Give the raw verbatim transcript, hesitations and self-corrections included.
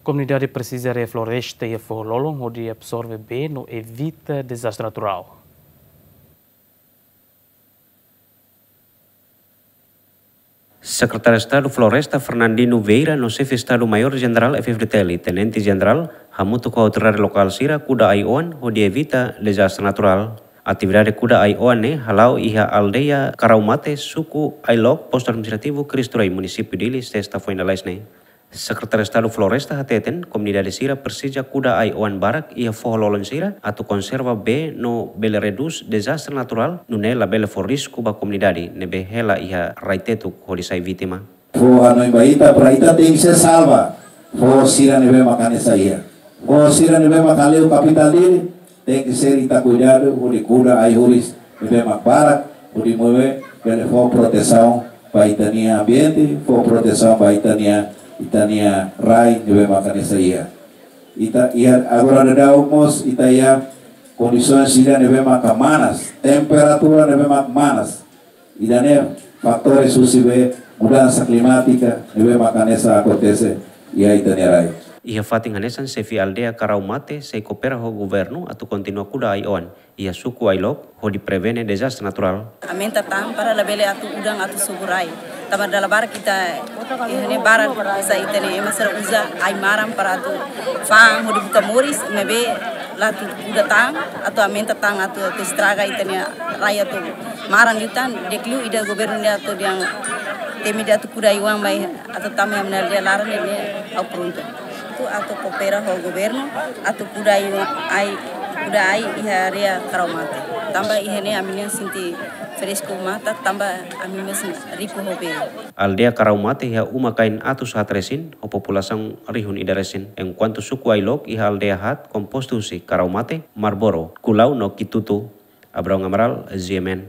Komunidade presiza refloresta iha foho lolon hodi absorve bee no evita dezastre naturál. Sekretáriu Estadu Floresta Fernandino Vieira no Xefe Estadu Maiór Jenerál F-FDTL, Tenente Jenerál, hamutuk ho autoridade lokál sira kuda ai-oan hodi evita dezastre naturál. Atividade kuda ai-oan ne'e hala'o iha aldeia Karaumate, suku Ailok, postu administrativu Cristo Rei, munisípiu Dili, sesta foin lalais ne'e. Sekretáriu Estadu Floresta hateten, komunidade sira presiza kuda ai-oan barak iha foho lolon sira atu konserva bee no bele redús dezastre naturál, nune'e labele fó risku ba komunidade ne'ebé hela iha rai tetuk hodi sai vítima. Foho hanoin ba ita, para ita tenke ser salva foho sira ne'ebé mak hanesan iha. Foho sira ne'ebé mak haleu kapitál Dili, tenke ser ita kuidadu hodi kuda ai-horis ne'ebé mak barak, hodi moe bele fó protesaun ba ita-nia ambiente, fó protesaun ba ita-nia, ita-nia rai ne'ebé mak hanesan iha. Ita iha agora daudaun mós ita iha kondisaun sira ne'ebé mak manas, temperatura ne'ebé mak manas. Ida-ne'e fatores husi be mudansa klimátika ne'ebé mak hanesan akontese iha ita-nia rai. Iha fatin hanesan, xefe aldeia Karaumate sei koopera ho governu atu kontinua kuda ai-oan iha suku Ailok hodi prevene dezastre naturál. Aumenta tan para labele atu udan atu sobu rai. Tanba dala barak ita, eh, ne'e barak sa ita ne'e ema sira uza ai-maran para atu fa'an hodi buka moris, maibé la atu kuda tan, atu aumenta tan, atu, atu estraga ita-nia rai atu maran liután, di'ak liu ida governu ne'e atu dehan temi ida atu kuda ai-oan mai atu tama iha ami-nia aldeia laran ne'e, ne'e ha'u prontu. Atu, atu koopera ho governu, atu kuda ai-oan, ai, kuda ai iha área Karaumate. Tanba iha ne'e ami-nia sente fresku matan, tanba ami mós riku ho bee. Aldeia Karaumate iha uma-kain atus haat resin, ho populasaun rihun ida resin. Enkuantu suku Ailok iha aldeia haat, kompostu husi Karaumate, Marlboro, Kulau no Kitutu. Abraão Amaral, G M N.